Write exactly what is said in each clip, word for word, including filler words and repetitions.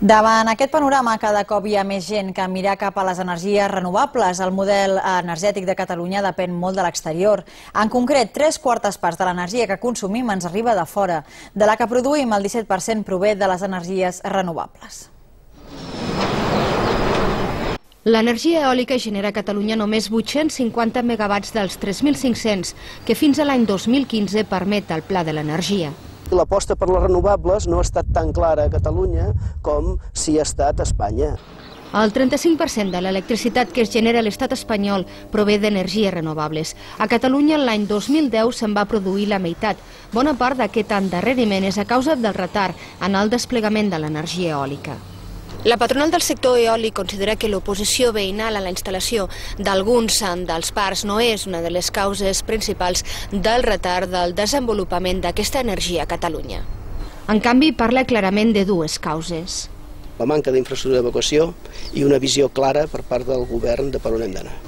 Davant aquest panorama, cada cop hi ha més gent que mira cap a les energies renovables. El model energètic de Catalunya depèn molt de l'exterior. En concret, tres quartes parts de l'energia que consumim ens arriba de fora. De la que produïm, el disset per cent prové de les energies renovables. L'energia eòlica genera a Catalunya només vuit-cents cinquanta megawatts dels tres mil cinc-cents que fins a l'any dos mil quinze permet el Pla de l'Energia. L'aposta per les renovables no ha estat tan clara a Catalunya com si ha estat a Espanya. El trenta-cinc per cent de l'electricitat que es genera a l'estat espanyol prové d'energies renovables. A Catalunya l'any dos mil deu se'n va produir la meitat. Bona part d'aquest endarreriment és a causa del retard en el desplegament de l'energia eòlica. La patronal del sector eòlic considera que l'oposició veïnal a la instal·lació d'alguns dels parcs no és una de les causes principals del retard del desenvolupament d'aquesta energia a Catalunya. En canvi, parla clarament de dues causes. La manca d'infraestructura d'evacuació i una visió clara per part del govern de per on hem d'anar.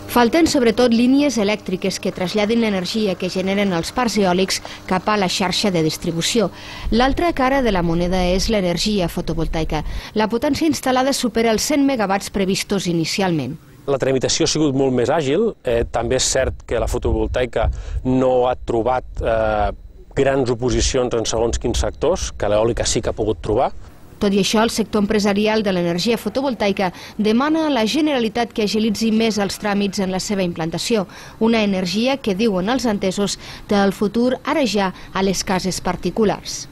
Falten sobretot línies elèctriques que traslladin l'energia que generen els parcs eòlics cap a la xarxa de distribució. L'altra cara de la moneda és l'energia fotovoltaica. La potència instal·lada supera els cent megawatts previstos inicialment. La tramitació ha sigut molt més àgil. Eh, també és cert que la fotovoltaica no ha trobat eh, grans oposicions en segons quins sectors, que l'eòlica sí que ha pogut trobar. Tot i això, el sector empresarial de l'energia fotovoltaica demana a la Generalitat que agilitzi més els tràmits en la seva implantació, una energia que, diuen els entesos, té el futur ara ja a les cases particulars.